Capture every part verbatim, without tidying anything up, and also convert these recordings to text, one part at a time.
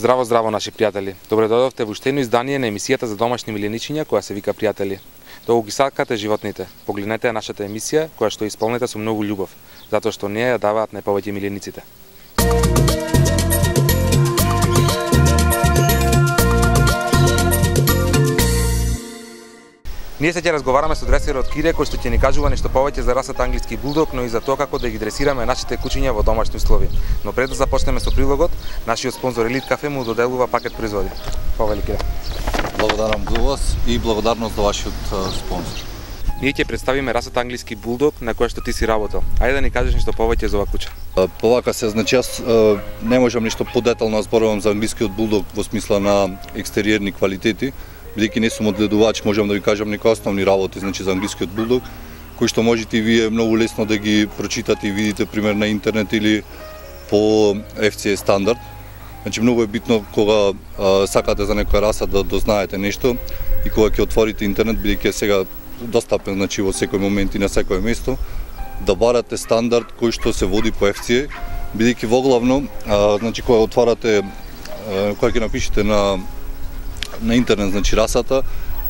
Здраво, здраво, наши пријатели. Добре дојдовте во уште едно издание на емисијата за домашни милениичиња која се вика Пријатели. Долго ги сакате животните. Погледнете ја нашата емисија која што исполнета со многу љубов, затоа што неја ја даваат најповеќе милениците. Ние се ќе разговараме со дресерот Кире, кој што ќе ни кажува нешто повеќе за расата англиски булдог, но и за тоа како да ги дресираме нашите кучиња во домашни услови. Но пред да започнеме со прилогот, нашиот спонзор Елит Кафе му доделува пакет производи. Повели, Кире. Благодарам до вас и благодарност за вашиот спонзор. Ние ќе представиме расата англиски булдог на која што ти си работел. Ајде да ни кажеш нешто повеќе за оваа куча. Повака се, значи јас не можам нешто подетално да зборувам за англискиот булдог во смисла на екстериерни квалитети. Бидејќи не сум одгледувач, можам да ви кажам некои основни работи, значи за англискиот булдог, кои што можете и вие многу лесно да ги прочитате и видите пример на интернет или по Еф Си Е стандард. Значи многу е битно кога а, сакате за некоја раса да дознаете нешто и кога ќе отворите интернет, бидејќи е сега достапен, значи во секој момент и на секој место, да барате стандард кој што се води по Еф Си Е, бидејќи воглавно, а, значи кога отварате, а, кога ќе напишете на на интернет, значи расата,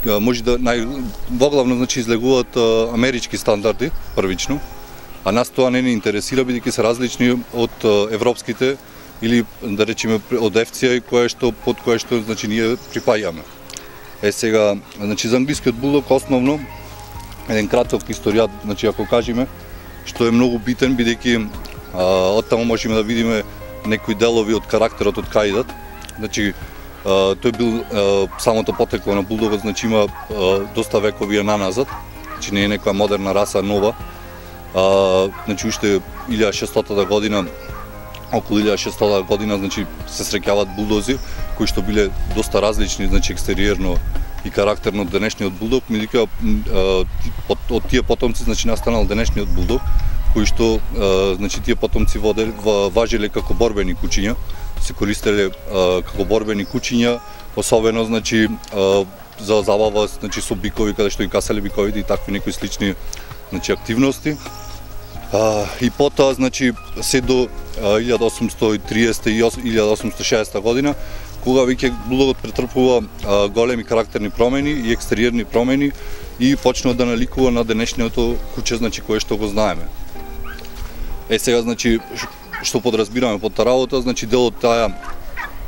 може да нај воглавно значи излегуваат амерички стандарди првично, а нас тоа не ни интересира бидејќи се различни од европските или да речеме од Еф Си Е кое што под кое што значи ние припаѓаме. Е сега, значи за англискиот булдог основно еден краток историјат, значи ако кажеме, што е многу битен бидејќи од таму можеме да видиме некои делови од карактерот од кај идат. Значи Uh, тој бил uh, самото потекло на булдогот, значи има uh, доста векови наназад, значи не е некоја модерна раса, нова. Uh, значи уште илјада и шестстотата година, околу илјада и шестстотата година, значи се среќаваат булдози кои што биле доста различни, значи екстериерно и карактерно од денешниот булдог, меѓутоа uh, од тие потомци значи настанал денешниот булдог, кои што uh, значи тие потомци водели, важеле како борбени кучиња. Се користеле а, како борбени кучиња, особено значи а, за забава значи со бикови каде што ги касале биковите и такви некои слични значи активности. А, и потоа значи се до а, илјада осумстотини и триесетта и илјада осумстотини и шеесетта година, кога веќе булдогот претрпува а, големи карактерни промени и екстериерни промени и почнува да наликува на денешното куче, значи кое што го знаеме. Е сега значи што подразбираме под таа работа, значи дел од таа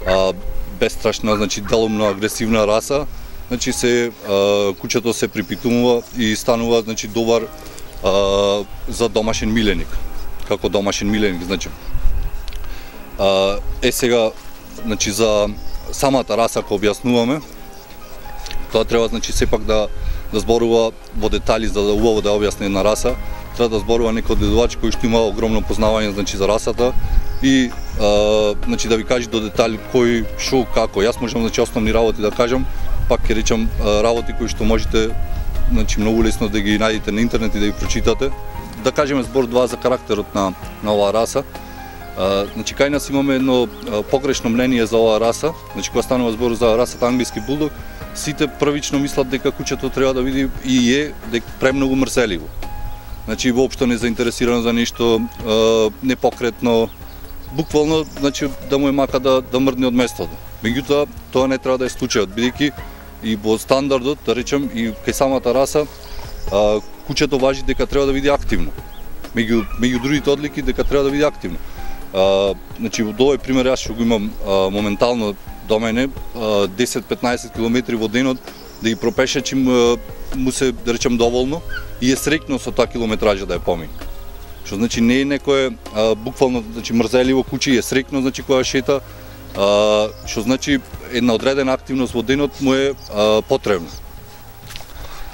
а, бестрашна, значи делумно агресивна раса, значи се а, кучето се припитумува и станува значи добар а, за домашен миленик, како домашен миленик, значи. А, е сега значи за самата раса кога објаснуваме, тоа треба значи сепак да да зборува во детали за да убаво да објасни една раса. Треба да зборува некој одгледувач кој што има огромно познавање значи за расата и а, значи да ви каже до детали кој шо како. Јас можам значи основни работи да кажам, пак ќе речам работи кои што можете значи многу лесно да ги најдете на интернет и да ги прочитате. Да кажеме збор два за карактерот на на оваа раса. А, значи кај нас имаме едно а, погрешно мнение за оваа раса. Значи кога станува збор за расата англиски булдог, сите првично мислат дека кучето треба да види и е дека премногу мрзеливо. Значи воопшто не заинтересирано за нешто, непокретно, буквално значи да му е мака да да мрдне од местото. Меѓутоа тоа не треба да е случајот, бидејќи и во стандардот, да речем, и кај самата раса, а, кучето важи дека треба да види активно. Меѓу меѓу другите одлики дека треба да види активно. А, значи во овој пример јас што го имам а, моментално до мене, десет-петнаесет километри во денот да ги пропешачим му се, да речем, доволно и е среќно со таа километража да ја помине. Што значи не е некое а, буквално значи мрзеливо куче, е среќно значи кога шета, а, што значи една одредена активност во денот му е а, потребна.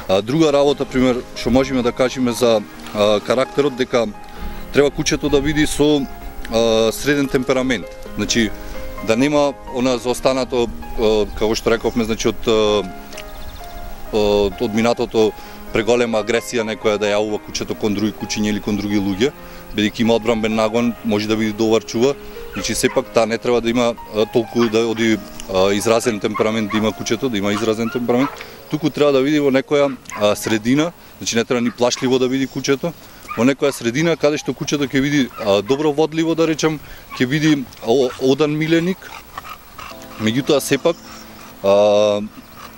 А, друга работа пример што можеме да кажеме за а, карактерот дека треба кучето да биде со а, среден темперамент. Значи да нема она заостанато, а, како што рековме, значи од од, од минатото преголема агресија некоја да јавува кучето кон други кучиња или кон други луѓе, бидејќи има одбранбен нагон, може да биде добар чува. Значи сепак таа не треба да има а, толку да оди а, изразен темперамент, да има кучето, да има изразен темперамент. Туку треба да види во некоја а, средина, значи не треба ни плашливо да види кучето, во некоја средина каде што кучето ќе види а, добро водливо, да речем, ќе види о, одан миленик. Меѓутоа сепак а,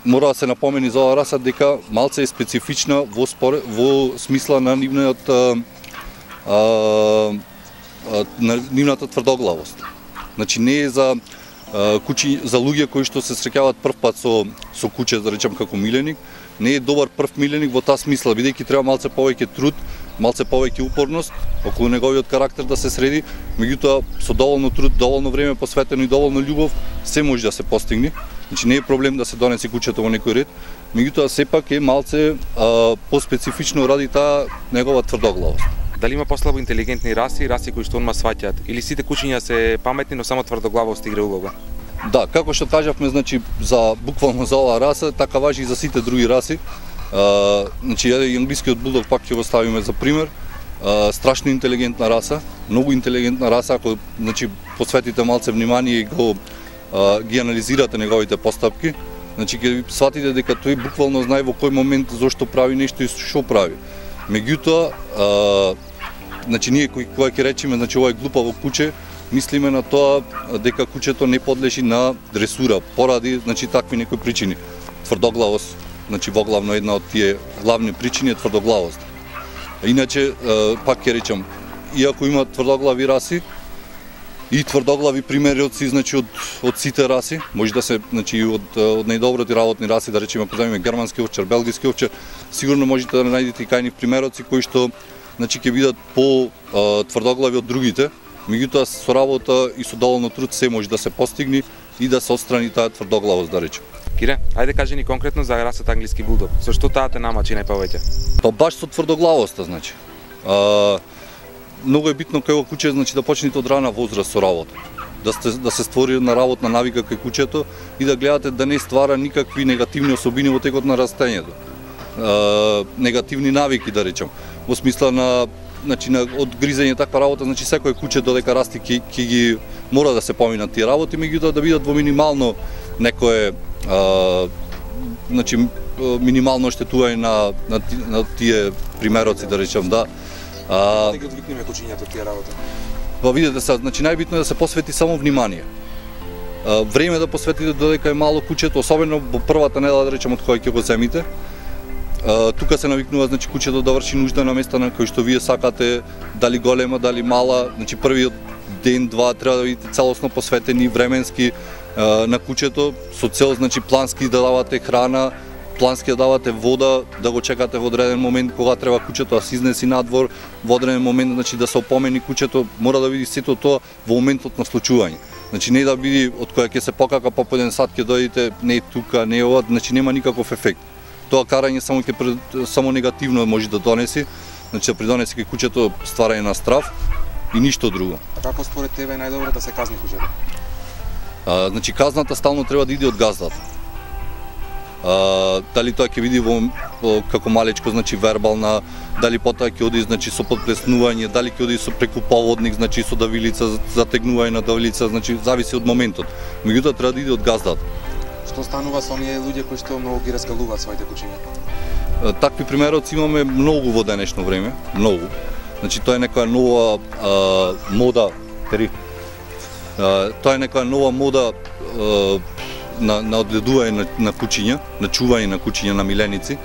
мора да се напомени за оваа раса дека малце е специфична во спор, во смисла на нивниот а, а, на нивната тврдоглавост. Значи не е за а, кучи, за луѓе кои што се среќаваат прв пат со со куче, да речем како миленик, не е добар прв миленик во таа смисла, бидејќи треба малце повеќе труд, малце повеќе упорност околу неговиот карактер да се среди, меѓутоа со доволно труд, доволно време посветено и доволно љубов се може да се постигне. Значи не е проблем да се донесе кучето во некој ред, меѓутоа сепак е малце а, поспецифично ради таа негова тврдоглавост. Дали има послабо интелигентни раси и раси кои што онма сваќаат, или сите кучиња се паметни, но само тврдоглавост игра улога? Да, како што кажавме, значи за буквално за оваа раса, така важи и за сите други раси. А, значи и англискиот булдог пак ќе го ставиме за пример. А, страшно интелигентна раса, многу интелигентна раса, ако значи посветите малце внимание и го а, ги анализирате неговите постапки, значи ќе сватите дека тој буквално знае во кој момент зошто прави нешто и што прави. Меѓутоа, а, значи ние кои кога ќе речеме, значи ова е глупаво куче, мислиме на тоа дека кучето не подлежи на дресура поради значи такви некои причини. Тврдоглавост, значи воглавно една од тие главни причини е тврдоглавост. Иначе пак ќе речам, иако има тврдоглави раси и тврдоглави примериоци, значи од од сите раси, може да се значи од од најдобрите работни раси, да речеме ако земеме германски овчар, белгиски овчар, сигурно можете да најдете и кајни примероци кои што значи ќе бидат по а, тврдоглави од другите. Меѓутоа со работа и со доволно труд се може да се постигне и да се отстрани таа тврдоглавост, да речем. Кире, ајде кажи ни конкретно за расата англиски булдог. Со што таа те намачи најповеќе? Па баш со тврдоглавоста, значи. А, многу е битно кај куче, значи да почнете од рана возраст со работа. Да, сте, да се створи една работна навика кај кучето и да гледате да не ствара никакви негативни особини во текот на растењето. А, негативни навики, да речем, во смисла на значи на од гризење таква работа, значи секој куче додека расти ќе ќе ги мора да се поминат тие работи, меѓутоа да бидат во минимално некое а, значи минимално оштетување на, на на тие примероци, да речем, да. А, да ги одвикнеме кучињата од тие работи. Па видете се, значи најбитно е да се посвети само внимание. А, време да посветите додека е мало кучето, особено во првата недела, да речем, од која ќе го земите. Uh, тука се навикнува значи кучето да врши нужда на места на кои што вие сакате, дали голема, дали мала, значи првиот ден, два треба да бидете целосно посветени временски uh, на кучето со цел значи плански да давате храна, плански да давате вода, да го чекате во одреден момент кога треба кучето да се изнеси надвор, во одреден момент значи да се опомени кучето, мора да види сето тоа во моментот на случување. Значи не да биде од која ќе се покака по еден сат ќе дојдете, не е тука, не е ова, значи нема никаков ефект. Тоа карање само ќе само негативно може да донеси, значи да придонеси кај кучето стварање на страв и ништо друго. А како според тебе е најдобро да се казни кучето? А, значи казната стално треба да иде од газдата. А, дали тоа ќе види во, во како малечко, значи вербална, дали потоа ќе оди значи со подплеснување, дали ќе оди со преку поводник, значи со давилица, затегнување на давилица, значи зависи од моментот. Меѓутоа треба да иде од газдата. Што станува со оние луѓе кои што многу ги раскалуваат своите кучиња? Такви примероци имаме многу во денешно време, многу. Значи тоа е некоја нова а, мода, тери. А, тоа е некоја нова мода а, на на одгледување на, на кучиња, на чување на кучиња на миленици.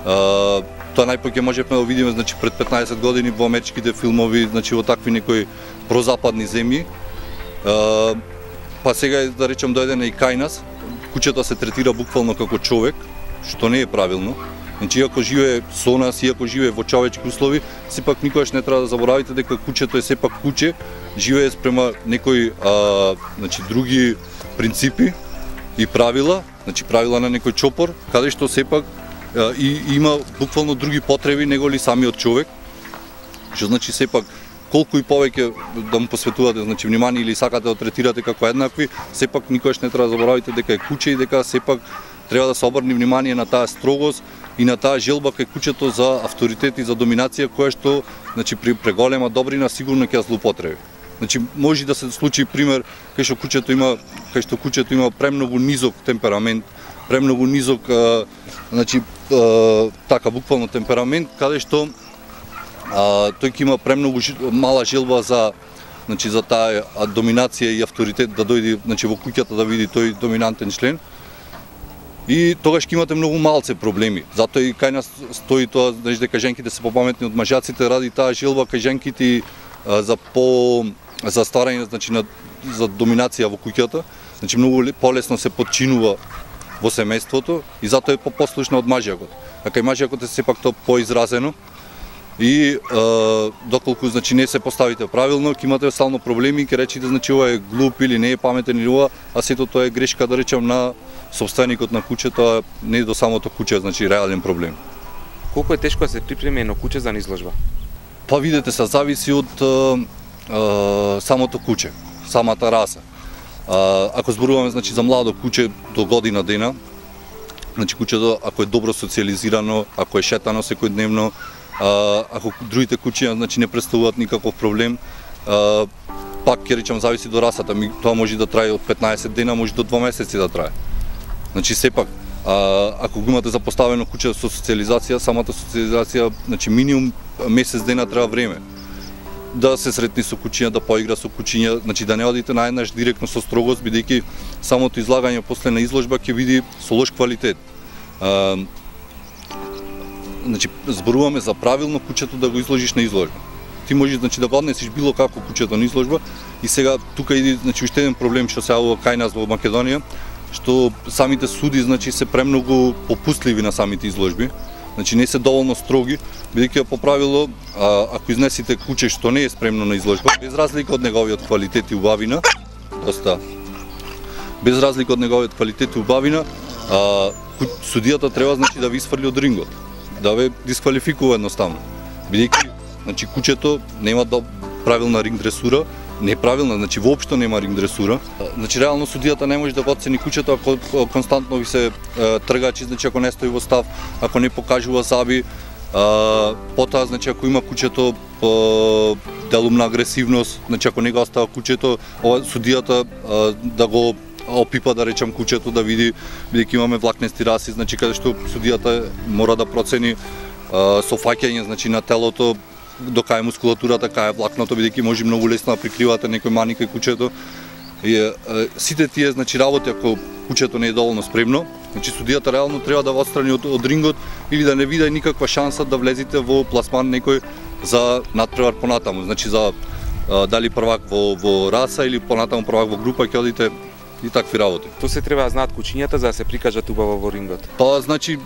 А, тоа најпоќе можевме да видиме значи пред петнаесет години во америчките филмови, значи во такви некои прозападни земји. А, па сега да речем дојдене и кај нас. Кучето се третира буквално како човек, што не е правилно. Значи, иако живее со нас, иако живее во човечки услови, сепак никогаш не треба да заборавите дека кучето е сепак куче, живее спрема некои а, значи, други принципи и правила, значи правила на некој чопор, каде што сепак и има буквално други потреби него ли самиот човек, што значи сепак колку и повеќе да му посветувате значи внимание или сакате да третирате како еднакви, сепак никогаш не треба да заборавите дека е куче и дека сепак треба да се обрне внимание на таа строгост и на таа желба кај кучето за авторитет и за доминација која што значи при преголема добрина сигурно ќе ја злоупотреби. Значи може да се случи пример кај што кучето има кај што кучето има премногу низок темперамент, премногу низок а, значи а, така буквално темперамент каде што а, тој ќе има премногу мала желба за значи за таа доминација и авторитет да дојде значи во куќата да види тој доминантен член. И тогаш ќе имате многу малце проблеми. Затоа и кај нас стои тоа значи дека женките се попаметни од мажаците ради таа желба кај женките а, за по за старање значи на за доминација во куќата. Значи многу полесно се подчинува во семејството и затоа е попослушна од мажјакот. А кај мажјакот е сепак тоа поизразено и а, доколку значи не се поставите правилно, ќе имате стално проблеми и ќе речите значи ова е глуп или не е паметен или ова, а сето тоа е грешка да речам на собственикот на куќето, не до самото куќе, значи реален проблем. Колку е тешко да се припреме едно куќе за изложба? Па видете се зависи од а, а, самото куќе, самата раса. А, ако зборуваме значи за младо куќе до година дена, значи куќето ако е добро социализирано, ако е шетано секојдневно, а, ако другите куќиња значи не представуваат никаков проблем, а, пак ќе речам зависи до расата, тоа може да трае од петнаесет дена, може до два месеци да трае. Значи сепак а, ако го имате запоставено куќе со социализација, самата социализација значи минимум месец дена треба време. Да се сретни со кучиња, да поигра со кучиња, значи да не одите наеднаш директно со строгост, бидејќи самото излагање после на изложба ќе види со лош квалитет. А, значи зборуваме за правилно кучето да го изложиш на изложба. Ти можеш значи да го однесиш било како кучето на изложба и сега тука иди значи уште еден проблем што се јавува кај нас во Македонија, што самите суди значи се премногу попустливи на самите изложби. Значи не се доволно строги, бидејќи по правило а, ако изнесите куче што не е спремно на изложба, без разлика од неговиот квалитет и убавина, доста без разлика од неговиот квалитет и убавина, а, судијата треба значи да ви изфрли од рингот, да ве дисквалификува едноставно. Бидејќи значи кучето нема да правилна ринг дресура, неправилна, значи воопшто нема ринг дресура. Значи реално судијата не може да го оцени кучето ако константно ви се е, тргачи, значи ако не стои во став, ако не покажува заби, а, потоа значи ако има кучето по делумна агресивност, значи ако не го остава кучето, ова судијата а, да го опипа да речам кучето да види, бидејќи имаме влакнести раси, значи каде што судијата мора да процени а, со фаќање значи на телото, до кај мускулатурата, кај влакното, бидејќи може многу лесно да прикривате некој мани кај кучето. И е, сите тие значи работи ако кучето не е доволно спремно, значи судијата реално треба да го отстрани од, од рингот или да не види никаква шанса да влезете во пласман некој за надпревар понатаму, значи за а, дали првак во во раса или понатаму првак во група ќе одите и такви работи. Тоа се треба да знаат кучињата за да се прикажат убаво во рингот. Па значи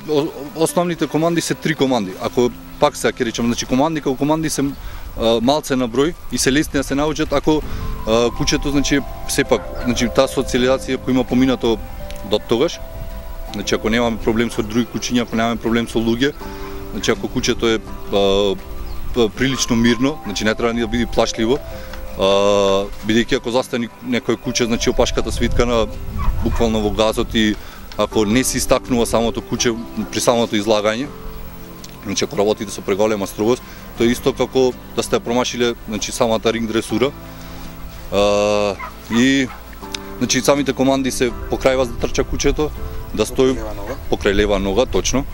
основните команди се три команди. Ако пак се ќе речам, значи команди како команди се а, малце на број и се лесни да се научат ако а, кучето значи сепак значи таа социализација која има поминато до тогаш. Значи ако немаме проблем со други кучиња, ако немаме проблем со луѓе, значи ако кучето е а, прилично мирно, значи не треба ни да биде плашливо. Uh, бидејќи ако застани некој куче, значи опашката свиткана буквално во газот и ако не се истакнува самото куче при самото излагање, значи ако работите со преголема строгост, тоа е исто како да сте промашиле значи самата ринг дресура. Uh, и значи самите команди се покрај вас да трча кучето, да стои покрај лева нога, точно.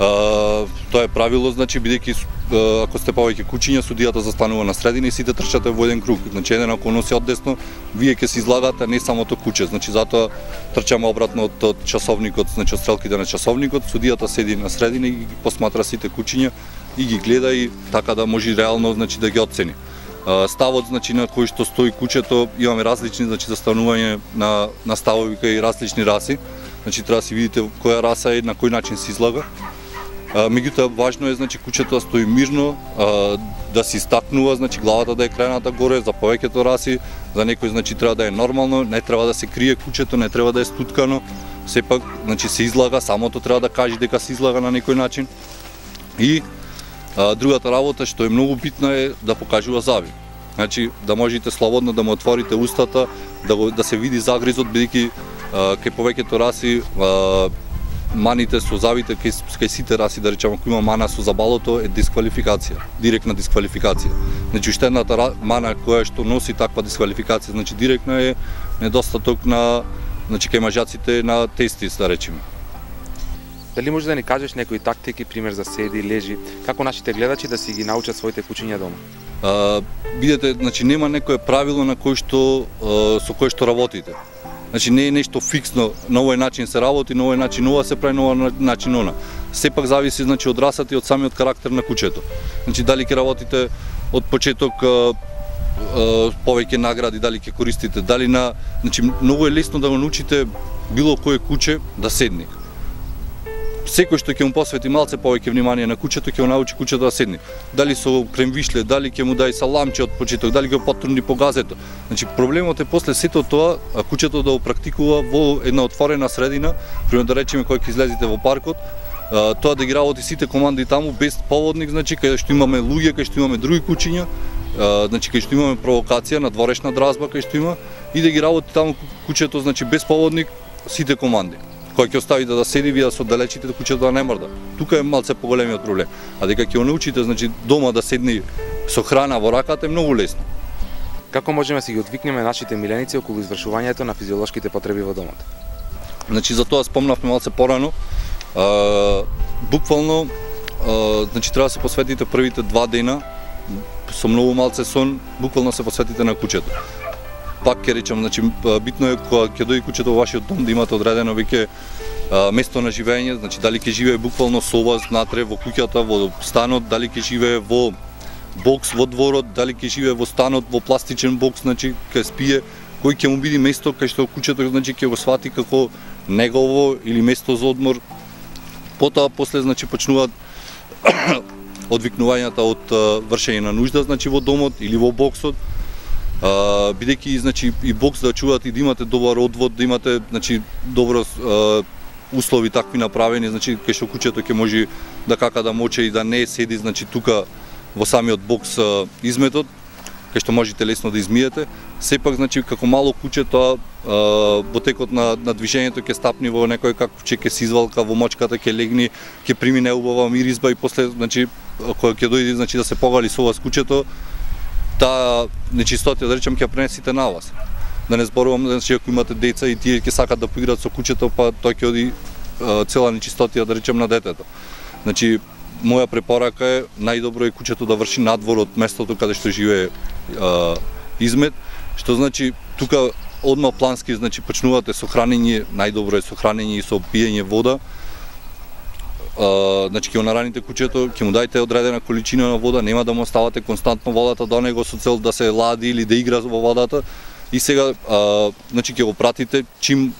Uh, тоа е правило, значи бидејќи uh, ако сте повеќе кучиња, судијата застанува на средина и сите трчате во еден круг. Значи еден ако носи одесно, вие ќе се излагате, не самото куче. Значи затоа трчаме обратно од, од часовникот, значи од стрелките на часовникот, судијата седи на средина и ги посматра сите кучиња и ги гледа и така да може реално значи да ги оцени. Uh, ставот значи на кој што стои кучето, имаме различни значи застанување на на ставови кај различни раси. Значи треба да си видите која раса е, на кој начин се излага. А, меѓутоа важно е значи кучето да стои мирно, а, да се истакнува, значи главата да е крајната горе, за повеќето раси, за некој значи треба да е нормално, не треба да се крие кучето, не треба да е стуткано, сепак значи се излага, самото треба да каже дека се излага на некој начин. И А, другата работа што е многу битна е да покажува зави. Значи да можете слободно да му отворите устата, да го, да се види загризот, бидејќи кај повеќето раси а, маните со завите кај, кај сите раси, да речеме, ако има мана со забалото, е дисквалификација, директна дисквалификација. Значи уште едната мана која што носи таква дисквалификација, значи директно е недостаток на, значи кај мажаците на тестис, да речеме. Дали може да ни кажеш некои тактики, пример за седи, лежи, како нашите гледачи да си ги научат своите кучиња дома? А, видете, значи нема некое правило на кој што а, со кој што работите. Значи не е нешто фиксно, на овој начин се работи, на овој начин ова се прави, на овој начин она. Сепак зависи, значи, од расата и од самиот карактер на кучето. Значи дали ќе работите од почеток а, а, повеќе награди, дали ќе користите, дали на, значи многу е лесно да го научите било кое куче да седне. Секој што ќе му посвети малце повеќе внимание на кучето, ќе го научи кучето да седне. Дали со кремвишле, дали ќе му дај саламче од почеток, дали ќе го потурни по газето. Значи проблемот е после сето тоа, а кучето да го практикува во една отворена средина, пример да речеме кога ќе излезете во паркот, а, тоа да ги работи сите команди таму без поводник, значи кај што имаме луѓе, кај што имаме други кучиња, а, значи кај што имаме провокација на дворешна дразба, кај што има, и да ги работи таму кучето, значи без поводник сите команди. Кој ќе остави да, да седи, вие да се оддалечите, да кучето да не мрда. Тука е малце поголемиот проблем. А дека ќе го научите, значи дома да седни со храна во раката е многу лесно. Како можеме да си ги одвикнеме нашите миленици околу извршувањето на физиолошките потреби во домот? Значи за тоа спомнавме малце порано. А, буквално, а, значи треба да се посветите првите два дена со многу малце сон, буквално се посветите на кучето. Пак ќе речам, значи битно е кога ќе дојде кучето во вашиот дом да имате одредено веќе место на живење, значи дали ќе живее буквално со вас внатре во куќата, во станот, дали ќе живее во бокс во дворот, дали ќе живее во станот во пластичен бокс, значи ќе спие, кој ќе му биде место кај што кучето, значи ќе го свати како негово или место за одмор. Потоа после, значи, почнуваат одвикнувањата од вршење на нужда, значи во домот или во боксот. Uh, бидејќи, значи, и бокс да чувате и да имате добар одвод, да имате, значи, добро uh, услови такви направени, значи кај што кучето ќе може да кака да моче и да не седи, значи тука во самиот бокс uh, изметот, кај што можете лесно да измиете. Сепак, значи, како мало куче тоа uh, во текот на, на движењето ќе стапни во некој как куче, ќе се извалка во мочката, ќе легни, ќе прими неубава миризба и после, значи, кога ќе дојде, значи, да се погали со вас кучето, таа нечистотија, да речем, ќе пренесите на вас. Да не зборувам, значи, ако имате деца и тие ќе сакат да поиграат со кучето, па тој ќе оди а, цела нечистотија, да речем, на детето. Значи, моја препорака е најдобро е кучето да врши надвор од местото каде што живее а, измет, што значи тука одма плански, значи почнувате со хранење, најдобро е со хранење и со пиење вода. Uh, значи ќе го нараните кучето, ќе му дајте одредена количина на вода, нема да му оставате константно водата до него со цел да се лади или да игра во водата. И сега, uh, значи ќе го пратите чим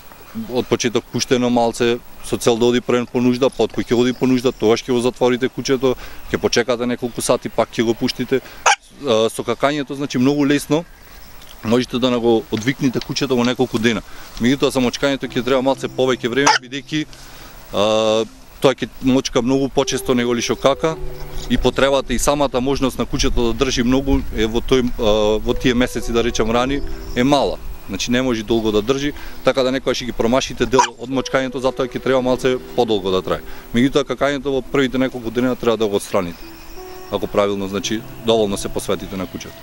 од почеток пуштено малце со цел да оди прен по нужда, па од кој ќе оди по нужда, тогаш ќе го затворите кучето, ќе почекате неколку сати, пак ќе го пуштите. Uh, со какањето, значи многу лесно можете да го одвикнете кучето во неколку дена. Меѓутоа за мочкањето ќе треба малце повеќе време, бидејќи uh, тоа ќе мочка многу почесто него ли што кака и потребата и самата можност на кучето да држи многу е во тој во тие месеци, да речем, рани е мала. Значи не може долго да држи, така да некогаш ќе ги промашите дел од мочкањето, затоа ќе треба малце подолго да трае. Меѓутоа какањето во првите неколку дена треба да го отстраните. Ако правилно, значи доволно се посветите на кучето.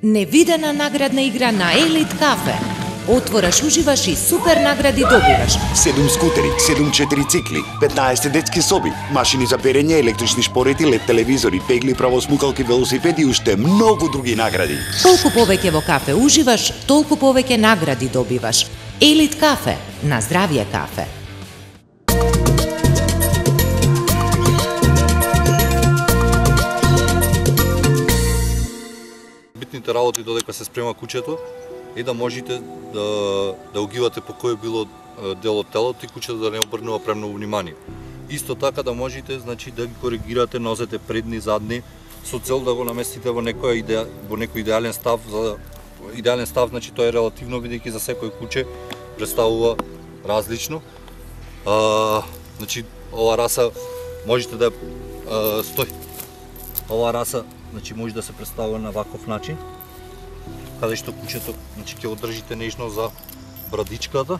Невидена наградна игра на Елит Кафе. Отвораш, уживаш и супер награди добиваш. седум скутери, седум четири цикли, петнаесет детски соби, машини за перење, електрични шпорети, лед телевизори, пегли, правосмукалки, велосипеди и уште многу други награди. Толку повеќе во кафе уживаш, толку повеќе награди добиваш. Елит Кафе, на здравје кафе. Битните работи додека се спрема кучето е да можете да да огивате по кој било дел од телото и кучето да не обрнува премногу внимание. Исто така да можете, значи, да ги коригирате нозете предни, задни, со цел да го наместите во некој идеа, во некој идеален став. За идеален став, значи, тоа е релативно, бидејќи за секој куче представува различно. А, значи ова раса можете да а, стои. Ова раса значи може да се представува на ваков начин, каде што кучето значи ќе одржите нежно за брадичката.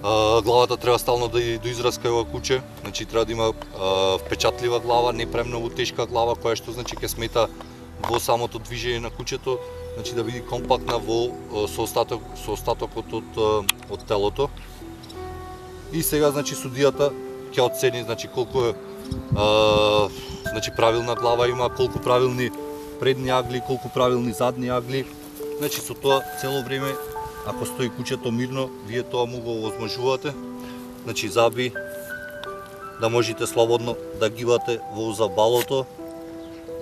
А, главата треба стално да до израска ова куче, значи треба да има а, впечатлива глава, не премногу тешка глава која што значи ќе смета во самото движење на кучето, значи да биде компактна во со остаток со остатокот од од телото. И сега значи судијата ќе оцени значи колку е а, значи правилна глава има, колку правилни предни агли, колку правилни задни агли. Значи со тоа цело време ако стои кучето мирно, вие тоа му го овозможувате. Значи заби да можете слободно да гибате во забалото,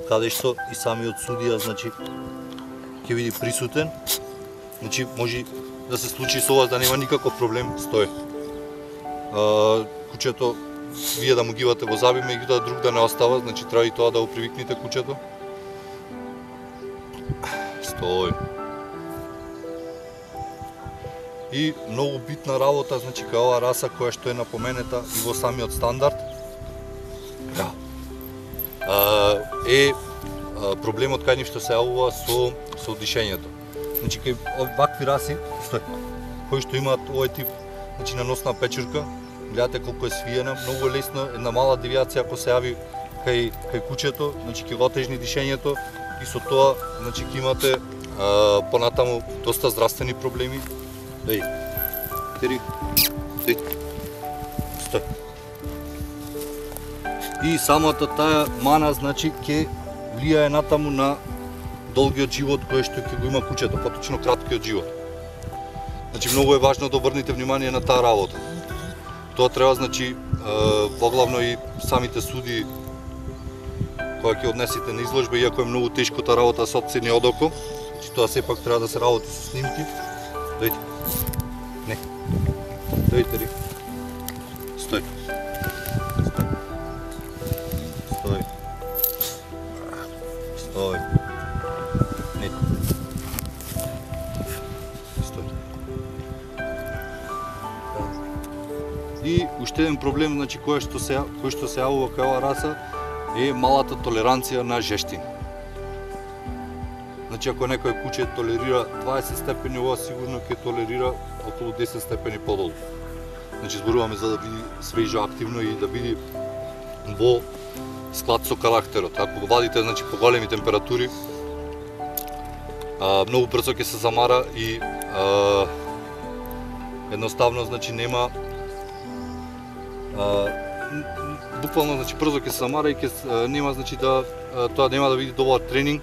каде што и самиот судија значи ќе биде присутен. Значи може да се случи со вас да нема никаков проблем, стои. А, кучето вие да му гибате во заби, меѓутоа друг да не остава, значи треба и тоа да го привикнете кучето. Стои. И многу битна работа, значи кај оваа раса која што е напоменета и во самиот стандард, да. а, е а, проблемот кај нив што се јавува со со дишењето. Значи кај вакви раси, стој, кои што имаат овој тип, значи на носна печурка, гледате колку е свиена, многу е лесно една мала девијација ако се јави кај кај кучето, значи ќе го отежни дишењето и со тоа значи ќе имате а, понатаму доста здравствени проблеми. Дај, тери, дај, стој. И самата таа мана, значи, ќе влијае натаму на долгиот живот кој што ќе го има кучето, поточно краткиот живот. Значи, многу е важно да обрнете внимание на таа работа. Тоа треба, значи, поглавно и самите суди која ќе однесете на изложба, иако е многу тешко таа работа се оцени од око, значи тоа сепак треба да се работи со снимки. Дојде. Не. Дојде ли? Стој. Стој. Стој. Не. Стој. И уште еден проблем, значи кој што се кој што се јавува кај оваа раса е малата толеранција на жештина. Значи ако некој куче толерира дваесет степени, ова сигурно ќе толерира околу десет степени подолу. Значи зборуваме за да биде свежо, активно и да биде во склад со карактерот. Ако го вадите значи по големи температури, а, многу брзо ќе се замара и а, едноставно значи нема а, буквално значи брзо ќе се замара и ќе нема значи да тоа нема да биде добар тренинг.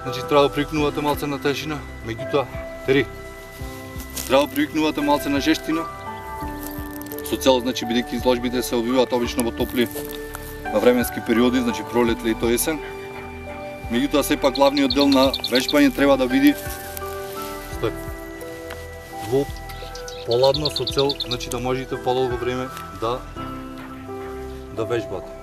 Значи треба да привикнувате малце на тежина, меѓутоа, тери, треба да привикнувате малце на жештина, со цел, значи, бидејќи изложбите се одвиваат обично во топли временски периоди, значи пролет, лето, есен. Меѓутоа, сепак главниот дел на вежбање треба да биде стој, во поладно, со цел, значи, да можете подолго време да да вежбате.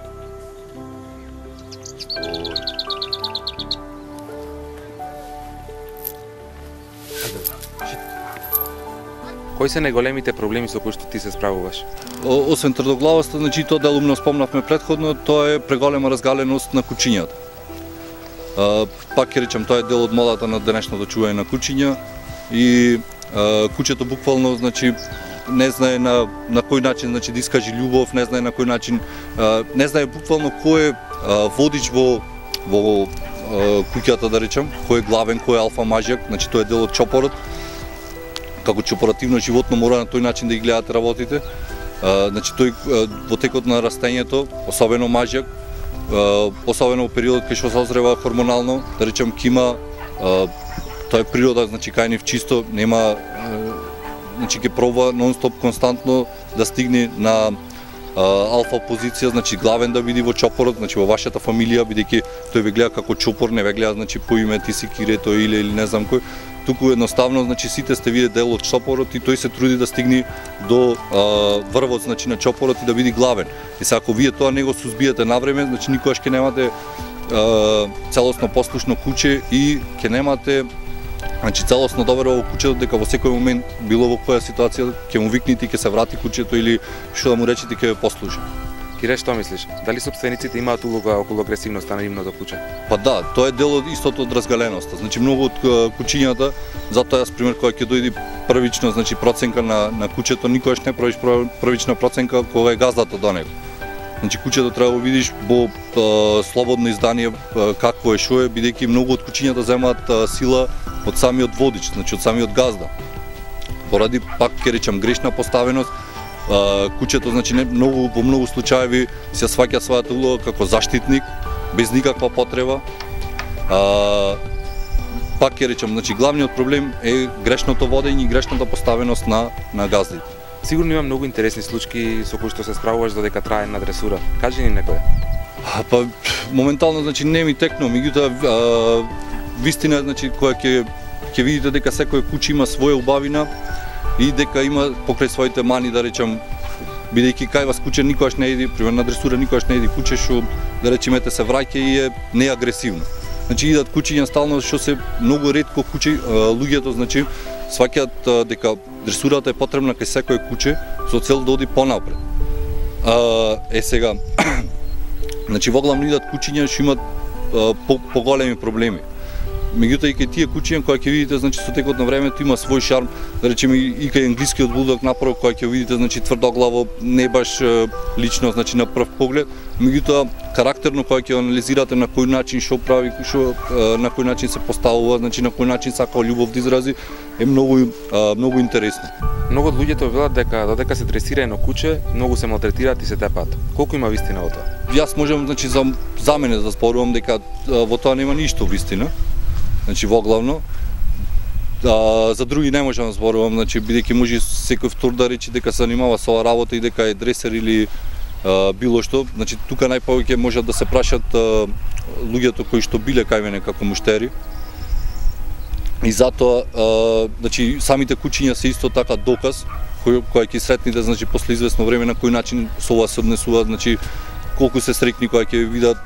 Кои се најголемите проблеми со кои што ти се справуваш? Освен тврдоглавоста, значи тоа делумно спомнавме претходно, тоа е преголема разгаленост на кучињата. Пак ќе речам, тоа е дел од модата на денешното чување на кучиња и а, кучето буквално значи не знае на на кој начин значи да искаже љубов, не знае на кој начин, а, не знае буквално кој е а, водич во во а, куќата, да речам, кој е главен, кој е алфа мажјак, значи тоа е дел од чопорот. Како чопоративно животно мора на тој начин да ги гледате работите. А, значи тој а, во текот на растењето, особено мажјак, а, особено во периодот кај што се озрева хормонално, да речем кима, а, тоа е природа, значи кај нив чисто нема, а, значи ќе проба нон-стоп константно да стигне на а, алфа позиција, значи главен да биде во чопорот, значи во вашата фамилија, бидејќи тој ве гледа како чопор, не ве гледа значи по име ти си Кирето или или не знам кој. Туку едноставно, значи сите сте вие дел од чопорот и тој се труди да стигне до а, врвот значи на чопорот и да биде главен. И сега ако вие тоа не го сузбиете навреме, значи никогаш ќе немате а, целосно послушно куче и ќе немате Значи целосно доверува во куќето дека во секој момент било во која ситуација ќе му викнете, ќе се врати куќето или што да му речете ќе ве послужи. Кире, што мислиш? Дали сопствениците имаат улога околу агресивноста на нивното куќе? Па да, тоа е дел од истото од разгаленоста. Значи многу од куќињата, затоа јас пример кога ќе дојде првично, значи проценка на на куќето, никогаш не правиш првична проценка кога е газдата до него. Значи куќето треба да видиш во слободно издание какво е што е, бидејќи многу од куќињата земаат сила од самиот водич, значи од самиот газда. Поради пак ќе речам грешна поставеност, куќето значи не многу во многу случаеви се сваќа својата улога како заштитник без никаква потреба. А, пак ќе речам, значи главниот проблем е грешното водење и грешната поставеност на на газдите. Сигурно има многу интересни случаи со кои што се справуваш додека трае една дресура. Кажи ни некој. Па моментално значи не ми текнува, меѓутоа вистина значи која ќе ќе видите дека секој куќе има своја убавина и дека има покрај своите мани, да речам, бидејќи кај вас куќе никогаш не еди, пример на дресура никогаш не еди куќе што да речемете се враќа и е неагресивно. Значи идат куќиња стално што се многу ретко куќе луѓето значи сваќаат дека дресурата е потребна кај секое куќе со цел да оди понапред. А, е сега значи воглавно идат куќиња што имаат по, поголеми проблеми. Меѓутоа и кај тие куќиња кои ќе видите значи со текот на времето има свој шарм, да речеме и кај англискиот булдог направо кој ќе видите значи тврдоглаво, не баш лично значи на прв поглед, меѓутоа карактерно кој ќе анализирате на кој начин што прави, што на кој начин се поставува, значи на кој начин сака љубов да изрази, е многу многу интересно. Многу од луѓето велат дека додека се дресира едно куќе, многу се малтретираат и се тепаат. Колку има вистина во тоа? Јас можам значи за за мене да зборувам дека во тоа нема ништо вистина. Значи воглавно, а, за други не можам да зборувам, значи бидејќи може секој втор да рече дека се занимава со оваа работа и дека е дресер или а, било што. Значи тука најповеќе можат да се прашат а, луѓето кои што биле кај мене како муштери. И затоа а, значи самите куќиња се исто така доказ кој кој ќе сретните значи после извесно време на кој начин со ова се однесуваат, значи колку се среќни кога ќе видат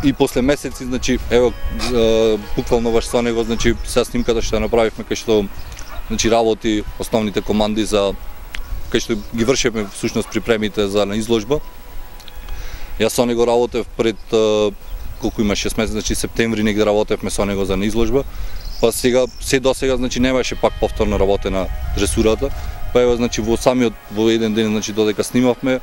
и после месеци, значи, ево, буквално баш со него, значи, сега снимката што направивме, кај што, значи, работи основните команди за, кај што ги вршиме, всушност, припремите за на изложба. Јас со него работев пред, колку има, шест месеци, значи, септември негде работевме со него за на изложба, па сега, се до сега, значи, немаше пак повторно работе на дресурата, па ево, значи, во самиот, во еден ден, значи, додека снимавме,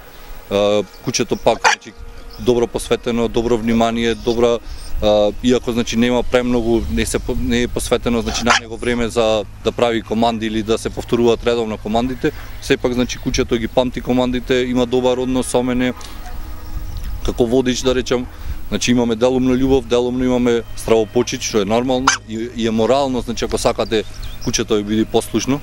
куќето пак, значи, добро посветено, добро внимание, добра, а, иако значи нема премногу, не се не е посветено значи на него време за да прави команди или да се повторуваат редовно командите, сепак значи куќето ги памти командите, има добар однос со мене како водич, да речам. Значи имаме делумна љубов, делумно имаме стравопочит, што е нормално и, и е морално, значи ако сакате куќето ви биде послушно.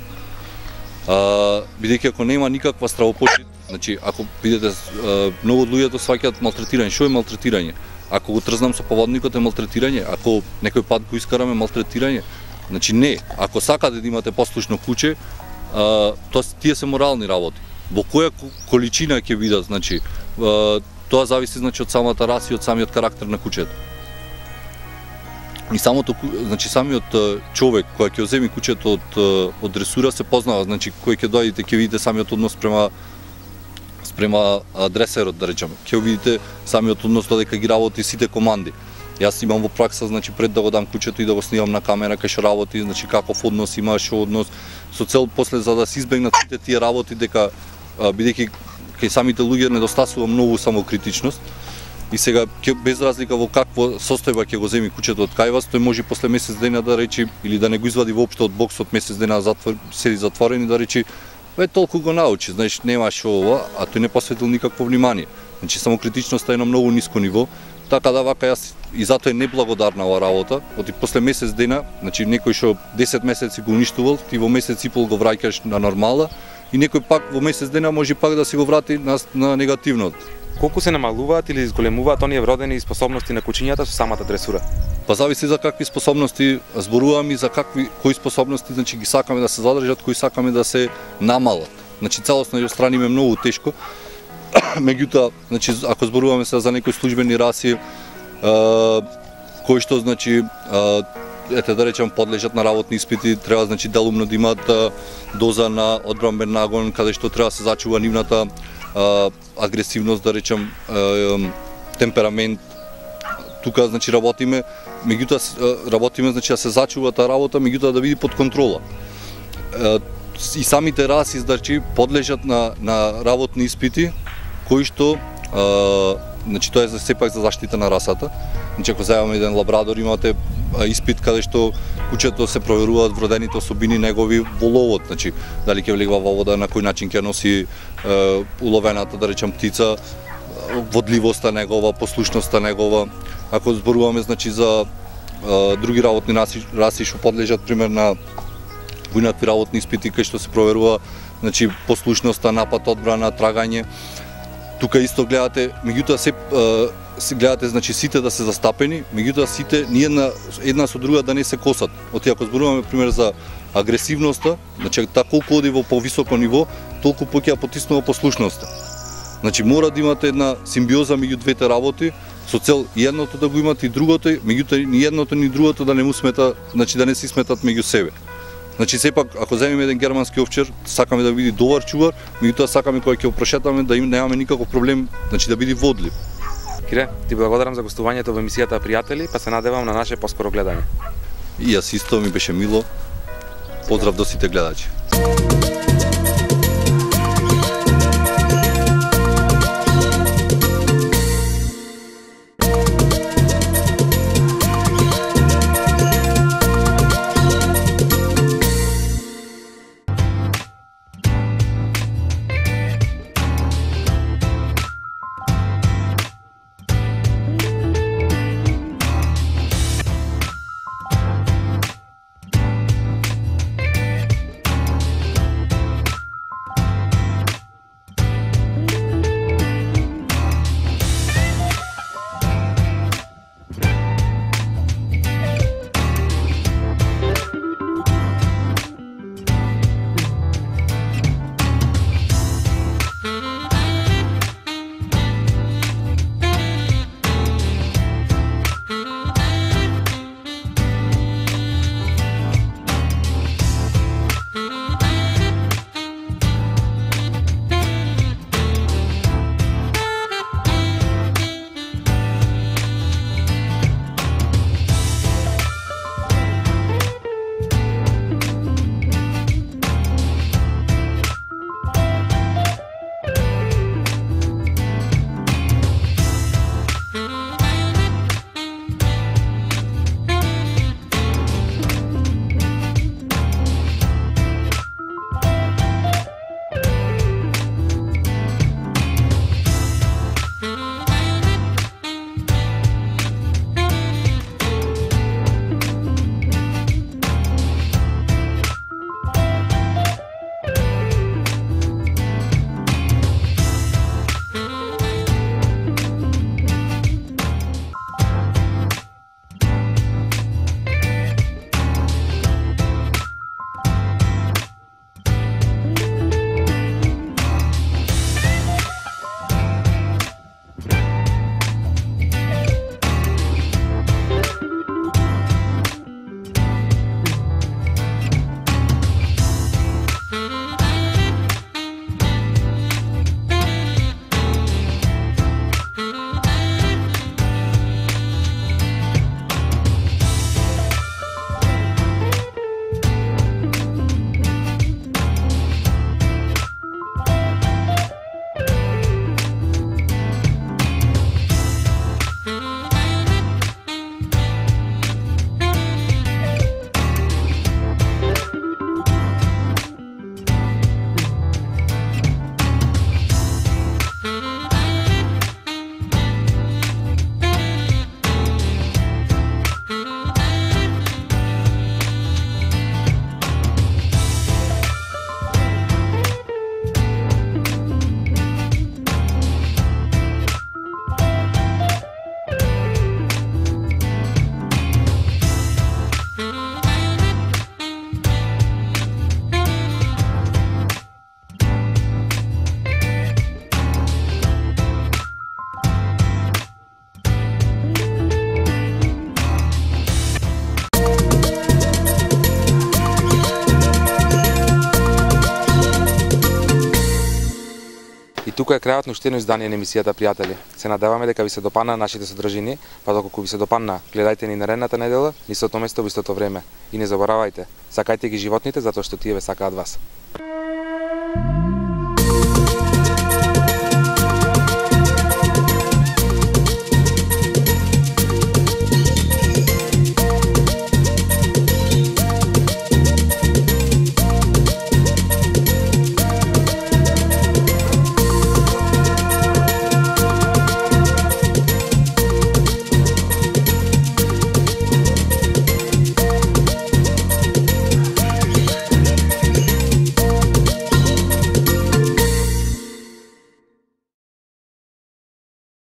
А, бидејќи ако нема никаква стравопочит, значи ако видите многу од луѓето сваќаат малтретирање, што е малтретирање? Ако го трзнам со поводникот е малтретирање, ако некој пат го искараме малтретирање. Значи не, ако сакате да имате послушно куќе, тоа тие се морални работи. Во која количина ќе бидат, значи тоа зависи значи од самата раса и од самиот карактер на куќето. И самото, значи самиот човек кој ќе земи куќето од од дресура се познава, значи кој ќе дојдете ќе видите самиот однос према спрема дресерот, да речеме. Ќе видите самиот однос додека ги работи сите команди. Јас имам во пракса, значи пред да го дам куќето и да го снимам на камера кај што работи, значи каков однос има, што однос, со цел после за да се избегнат сите тие работи дека бидејќи кај самите луѓе недостасува многу самокритичност. И сега без разлика во какво состојба ќе го земи куќето од кај вас, тој може после месец дена да речи или да не го извади воопшто од боксот месец дена затвор, седи затворен и да речи ве толку го научи, знаеш, немаш ова, а тој не посветил никакво внимание. Значи самокритичноста е на многу ниско ниво, така да вака јас и затоа е неблагодарна оваа работа, оти после месец дена, значи некој што десет месеци го уништувал, ти во месец и пол го враќаш на нормала и некој пак во месец дена може пак да се го врати на, на негативното. Колку се намалуваат или изголемуваат оние вродени способности на кучињата со самата дресура? Па зависи за какви способности зборуваме и за какви кои способности значи ги сакаме да се задржат, кои сакаме да се намалат. Значи целосно ја страниме многу тешко. Меѓутоа, значи ако зборуваме се за некои службени раси, а, кои што значи а, ете да речем подлежат на работни испити, треба значи делумно да имаат доза на одбранбен нагон, каде што треба да се зачува нивната а, агресивност, да речем а, темперамент. Тука значи работиме, меѓутоа работиме значи да се зачува таа работа, меѓутоа да биде под контрола. А, и самите раси значи подлежат на на работни испити кои што а, значи тоа е за сепак за заштита на расата. Значи ако земаме еден лабрадор, имате испит каде што кучето се проверуваат вродените особини негови во ловот, значи дали ќе влегува во вода, на кој начин ќе носи е, уловената, да речем птица, водливоста негова, послушноста негова. Ако зборуваме значи за е, други работни раси, раси што подлежат пример на војнатви работни испити кај што се проверува значи послушноста, напад, одбрана, трагање. Тука исто гледате, меѓутоа се се гледате значи сите да се застапени, меѓутоа сите ние една една со друга да не се косат. Оти ако зборуваме пример за агресивноста, значи та колку оди во повисоко ниво, толку поќе ја потиснува послушноста. Значи мора да имате една симбиоза меѓу двете работи со цел и едното да го имате и другото, меѓутоа ни едното ни другото да не му смета, значи да не се сметат меѓу себе. Значи сепак ако земеме еден германски овчар, сакаме да биде добар чувар, меѓутоа сакаме кога ќе го прошетаме да им немаме никаков проблем, значи да биде водлив. Кире, ти благодарам за гостувањето во емисијата Пријатели, па се надевам на наше поскоро гледање. И јас исто, ми беше мило. Поздрав до сите гледачи. И тука е крајот на уште едно издание на емисијата, пријатели. Се надеваме дека ви се допана нашите содржини, па доколку ви се допанна, гледајте ни наредната недела, ни со тоа место во истото време. И не заборавајте, сакајте ги животните затоа што тие ве сакаат вас.